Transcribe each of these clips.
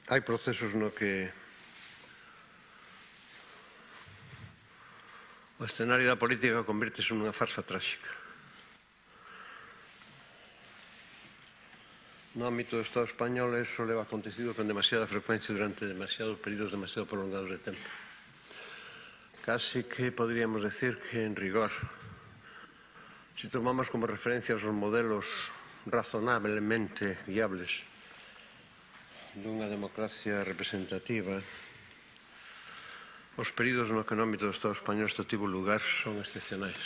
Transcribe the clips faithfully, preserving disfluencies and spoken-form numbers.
hai procesos no que o escenario da política convírtese nunha farsa tráxica. No ámbito do Estado español eso leva acontecido con demasiada frecuencia durante demasiados períodos demasiado prolongados de tempo. Casi que podríamos decir que, en rigor, si tomamos como referencia os modelos razonablemente viables dunha democracia representativa, os períodos no que no ámbito do Estado español isto tivo lugar son excepcionais.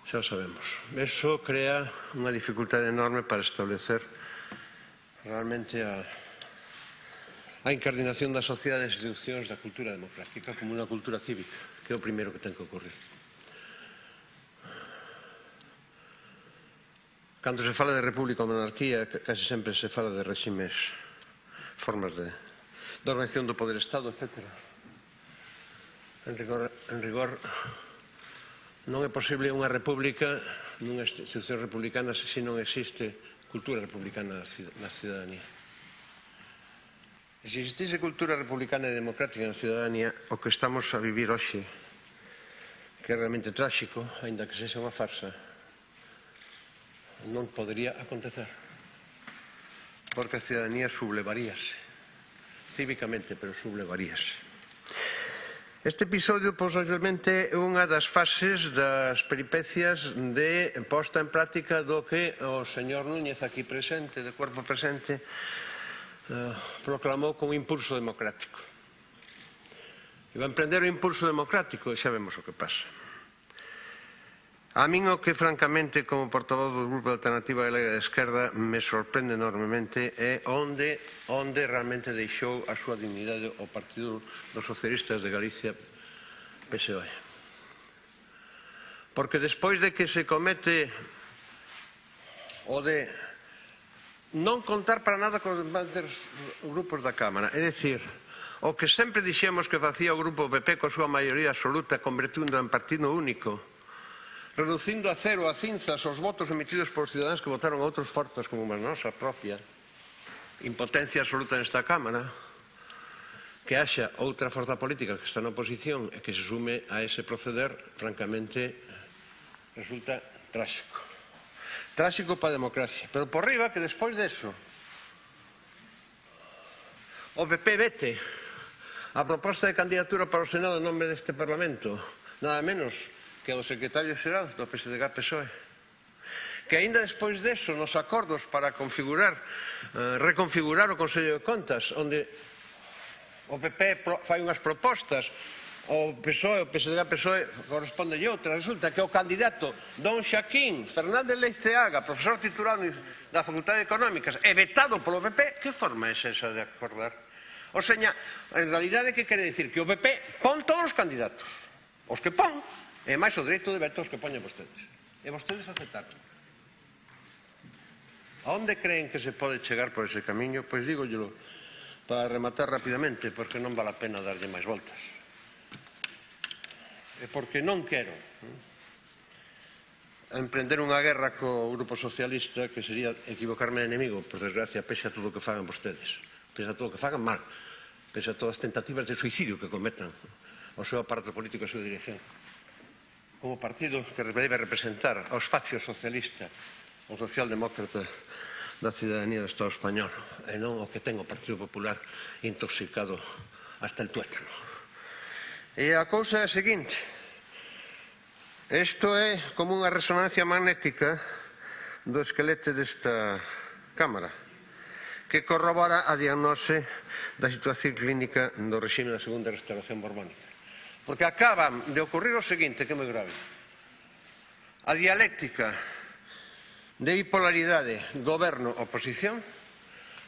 Xa o sabemos. Eso crea unha dificultade enorme para establecer realmente a, a incardinación da sociedade das institucións da cultura democrática como unha cultura cívica, que é o primeiro que ten que ocurrir. Cando se fala de república ou monarquía, casi sempre se fala de reximes, formas de, de organización do poder Estado, etcétera. En rigor, en rigor non é posible unha república nunha institución republicana se non existe cultura republicana na cidadanía. Se existise cultura republicana e democrática na cidadanía, o que estamos a vivir hoxe, que é realmente tráxico, aínda que sexa unha farsa, non podría acontecer. Porque a cidadanía sublevaríase, cívicamente, pero sublevaríase. Este episodio, posiblemente, é unha das fases das peripecias de posta en práctica do que o señor Núñez, aquí presente, de cuerpo presente, eh, proclamou como impulso democrático. E va a emprender o impulso democrático e xa vemos o que pasa. A min o que, francamente, como portavoz do Grupo de Alternativa Galega de Esquerda, me sorprende enormemente é onde, onde realmente deixou a súa dignidade o Partido dos Socialistas de Galicia, P S O E. Porque despois de que se comete o de non contar para nada con os demais grupos da Cámara, é dicir, o que sempre dixemos que facía o Grupo P P coa súa maioría absoluta, convertindo en partido único, reducindo a cero, a cinzas, os votos emitidos por cidadáns que votaron a outros forzas como a nosa propia impotencia absoluta nesta Cámara, que haxa outra forza política que está na oposición e que se sume a ese proceder, francamente, resulta tráxico. Tráxico para a democracia. Pero por riba, que despois deso, o P P vete a proposta de candidatura para o Senado en nome deste Parlamento, nada menos que o secretario xeral do P S D G P S O E, que aínda despois deso, nos acordos para configurar, eh, reconfigurar o Consello de Contas, onde o P P fai unhas propostas, o P S O E, o P S D G P S O E corresponde outra, resulta que o candidato don Xaquín Fernández Leiceaga, profesor titular da Facultade de Económicas, é vetado polo P P, que forma é esa de acordar? O seña, en realidade, que quere dicir? Que o P P pon todos os candidatos, os que pon, e máis o dereito de veto os que poñen vostedes. E vostedes aceptaron. A onde creen que se pode chegar por ese camiño? Pois dígollelo para rematar rapidamente, porque non vale a pena darlle máis voltas. E porque non quero emprender unha guerra co Grupo Socialista, que sería equivocarme de enemigo, por desgracia, pese a todo o que fagan vostedes, pese a todo o que fagan mal, pese a todas as tentativas de suicidio que cometan o seu aparato político e a súa dirección. Como partido que debe representar ao espacio socialista, o socialdemócrata da cidadanía do Estado español, e non o que ten o Partido Popular intoxicado hasta el tuétano. E a cousa é a seguinte: isto é como unha resonancia magnética do esquelete desta Cámara, que corrobora a diagnose da situación clínica do regime da segunda restauración borbónica. Porque acaba de ocurrir o seguinte, que é moi grave. A dialéctica de bipolaridade goberno-oposición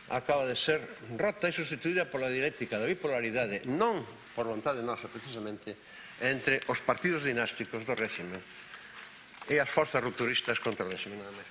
acaba de ser rota e sustituída pola dialéctica da bipolaridade, non por vontade nosa, precisamente, entre os partidos dinásticos do réxime e as forzas rupturistas contra o réxime, nada máis.